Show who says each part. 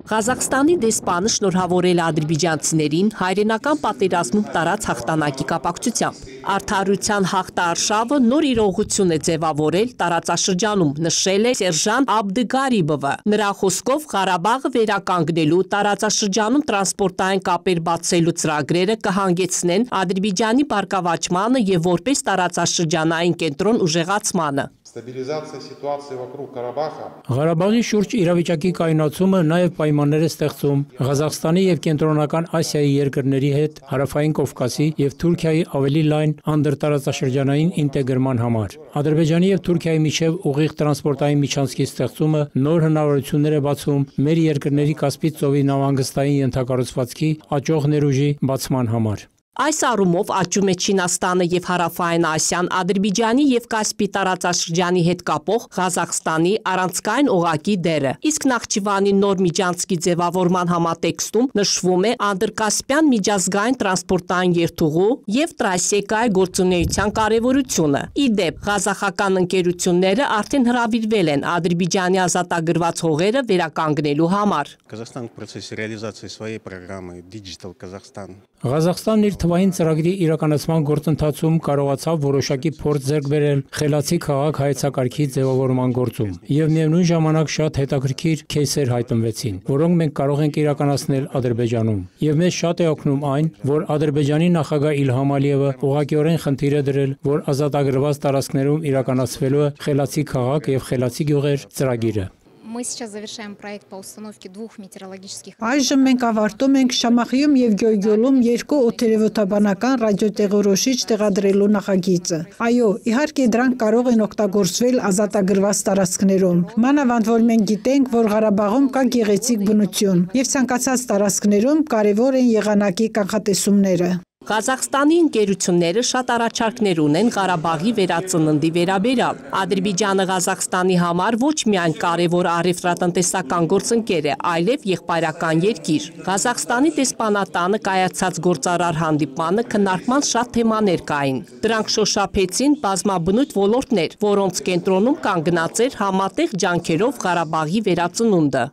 Speaker 1: Ղազախստանի դեսպանը շնորհավորել է ադրբեջանցիներին հայրենական պատերազմում տարած հաղթանակի կապակցությամբ։ Արդարության հաղթարշավը նոր իրողություն է ձևավորել տարածաշրջանում, նշել է Սերժանտ Աբդգարիբովը։ Նրա խոսքով Ղարաբաղը վերականգնելու, տարածաշրջանում տրանսպորտային կապեր բացելու ծրագրերը կհանգեցնեն Ադրբեջանի բարգավաճմանը և որպես տարածաշրջանային կենտրոն ուժեղացմանը։
Speaker 2: Ղարաբաղի շուրջ իրավիճակի կայունացումը նաև պայմաններ է ստեղծում Ղազախստանի և Կենտրոնական Ասիայի երկրների հետ Հարավային Կովկասի և Թուրքիայի ավելի լայն անդրտարածաշրջանային ինտեգրման համար։ Ադրբեջանի և Թուրքիայի միջև ուղիղ տրանսպորտային միջանցքի ստեղծումը նոր հնարավորություններ է բացում մեր երկրների Կասպից ծովի նավահանգստային ենթակառուցվածքի աճող ներուժի բացման համար։
Speaker 1: Այս առումով աճում է Չինաստանը և Հարավային Ասիան Ադրբեջանի և Կասպի տարածաշրջանի հետ կապող Ղազախստանի առանցքային օղակի դերը։ Իսկ Նախճիվանի նոր միջանցքի ձևավորման համատեքստում նշվում է Անդրկասպյան միջազգային տրանսպորտային երթուղու և տրասեկայի գործունեության կարևորությունը։ Ի դեպ, ղազախական ընկերությունները արդեն հրավիրվել են Ադրբեջանի ազատագրված հողերը վերականգնելու համար։
Speaker 2: Ղազախստանն իր թվային ծրագրի իրականացման գործընթացում կարողացավ որոշակի փորձ ձեռք բերել խելացի քաղաք հայեցակարգի ձևավորման գործում, և միևնույն ժամանակ շատ հետաքրքիր քեյսեր հայտնվեցին, որոնք մենք կարող ենք իրականացնել Ադրբեջանում։ Եվ մեզ շատ է օգնում այն, որ Ադրբեջանի նախագահ Իլհամ Ալիևը ուղղակիորեն խնդիր է դրել, որ ազատագրված տարածքներում իրականացվելու է խելացի քաղաք և խելացի գյուղեր ծրագիրը։
Speaker 3: Այժմ մենք ավարտում ենք Շամախիում և Գյոյգյոլում երկու օդերևութաբանական ռադիոտեղորոշիչ տեղադրելու նախագիծը։ Այո, իհարկե դրանք կարող են օգտագործվել ազատագրված տարածքներում։ Մանավանդ որ մենք գիտենք, որ Ղարաբաղում կա գեղեցիկ բնություն, և ցանկացած տարածքներում կարևոր են եղանակի կանխատեսումները։
Speaker 1: Ղազախստանի ընկերությունները շատ առաջարկներ ունեն Ղարաբաղի վերածննդի վերաբերյալ։ Ադրբեջանը Ղազախստանի համար ոչ միայն կարևոր առևտրատնտեսական գործընկեր է, այլև եղբայրական երկիր։ Ղազախստանի դեսպանատանը կայացած գործարար հանդիպմանը քննարկման շատ թեմաներ կային։ Դրանք շոշափեցին բազմաբնույթ ոլորտներ, որոնց կենտրոնում կանգնած էր համատեղ ջանքերով Ղարաբաղի վերածնունդը։